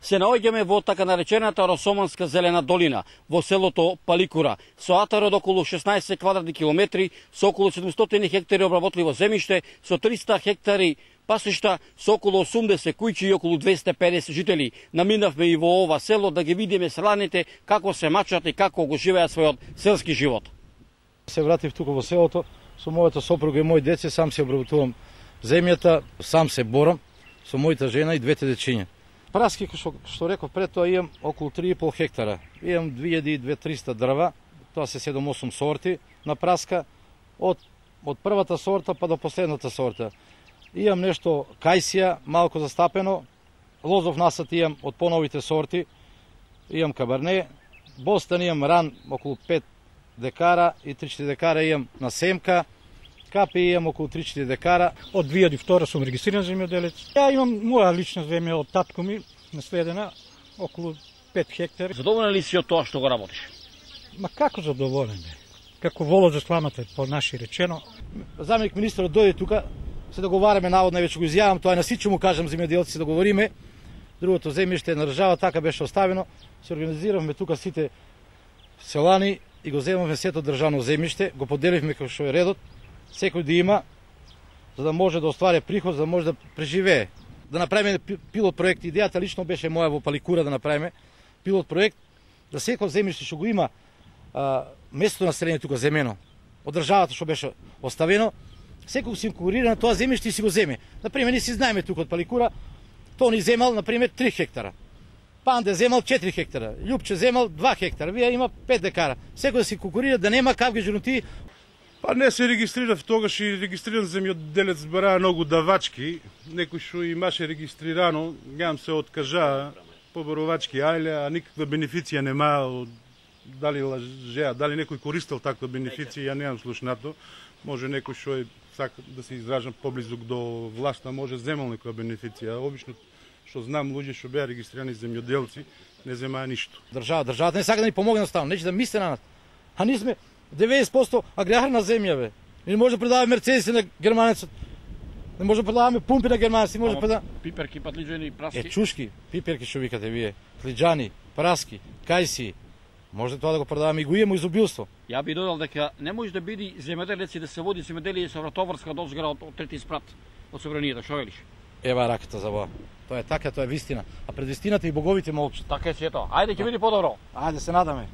Се наоѓаме во така наречената Росоманска зелена долина, во селото Паликура, со атар од околу 16 квадратни километри, со околу 700 хектари обработливо земјиште, со 300 хектари пасишта, со околу 80 куќи и околу 250 жители. Наминавме и во ова село да ги видиме селаните како се мачат и како го живеат својот селски живот. Се вратив тука во селото, со мојата сопруга и мои деце, сам се обработувам земјата, сам се борам со мојата жена и двете дечиња. Праски, што реков пред тоа, имам околу 3,5 хектара. Имам 2200 дрва, тоа се 7-8 сорти на праска, од првата сорта па до последната сорта. Имам нешто кајсија, малку застапено, лозов насад имам од поновите сорти, имам кабарне, бостан имам ран околу 5 декара и 3-4 декара имам на семка, капи имам околу 3-4 декара. Од 2002 сум регистриран земјоделец. Ја имам моја лична земја од татко ми, наследена, околу 5 хектари. Задоволен ли си од тоа што го работиш? Ма како задоволен бе? Како воло за сламата, по наши речено. Заменик министерот дојде тука, се договараме, наводно веќе го изјавам, тоа на сите му кажам земјоделци, се договориме. Другото земјиште на држава така беше оставено. Се организиравме тука сите селани и го земавме сето државно земјиште, го поделивме како што е редот, секој да има, за да може да оствари приход, за да може да преживее. Да направиме пилот проект, идејата лично беше моја во Паликура да направиме пилот проект, да секој земјиште што го има местото население тука земено, од државата што беше оставено, секој си конкурира на тоа земјиште и си го земе. Например, ние си знаеме тука од Паликура, Тони земал, например, 3 хектара. Панде земал 4 хектара, Љупче земал 2 хектара, вие има 5 декара. Секој да си конкурира, да нема кавги журнути. Па не се регистрирав тогаш и регистриран земјоделец бара многу давачки. Некој што имаше регистрирано, јам се откажа поборовачки ајле, а никаква бенефиција нема. Дали лажеа, дали некој користел таква бенефиција, ја немам слушнато. Може некој што е сака да се изражам поблизок до власта, може земал некоја бенефиција. Обично што знам луѓе што беа регистрирани земјоделци, не земаа ништо. Државата не сака да ни помогне наставно, нече да мисли на нас. А ние сме 90% аграрна земја, бе. Не може да продаваме мерцедиси на германецот. Не може да продаваме пумпи на германеци, може да продаваме пиперки, патлиџани, праски. Чушки, пиперки што викате вие, тлиџани, праски, кајси. Може тоа да го продаваме и го имаме изобилство. Ја би додал дека не може да биде земјоделец и да се води земјоделие со вратоврска дозгора од трети спрат од собранието, што велиш? Ева раката за Бога. Тоа е така, тоа е вистина. А пред вистината и боговите молчат. Така е сето. Ајде ќе биде подобро. Ајде се надаме.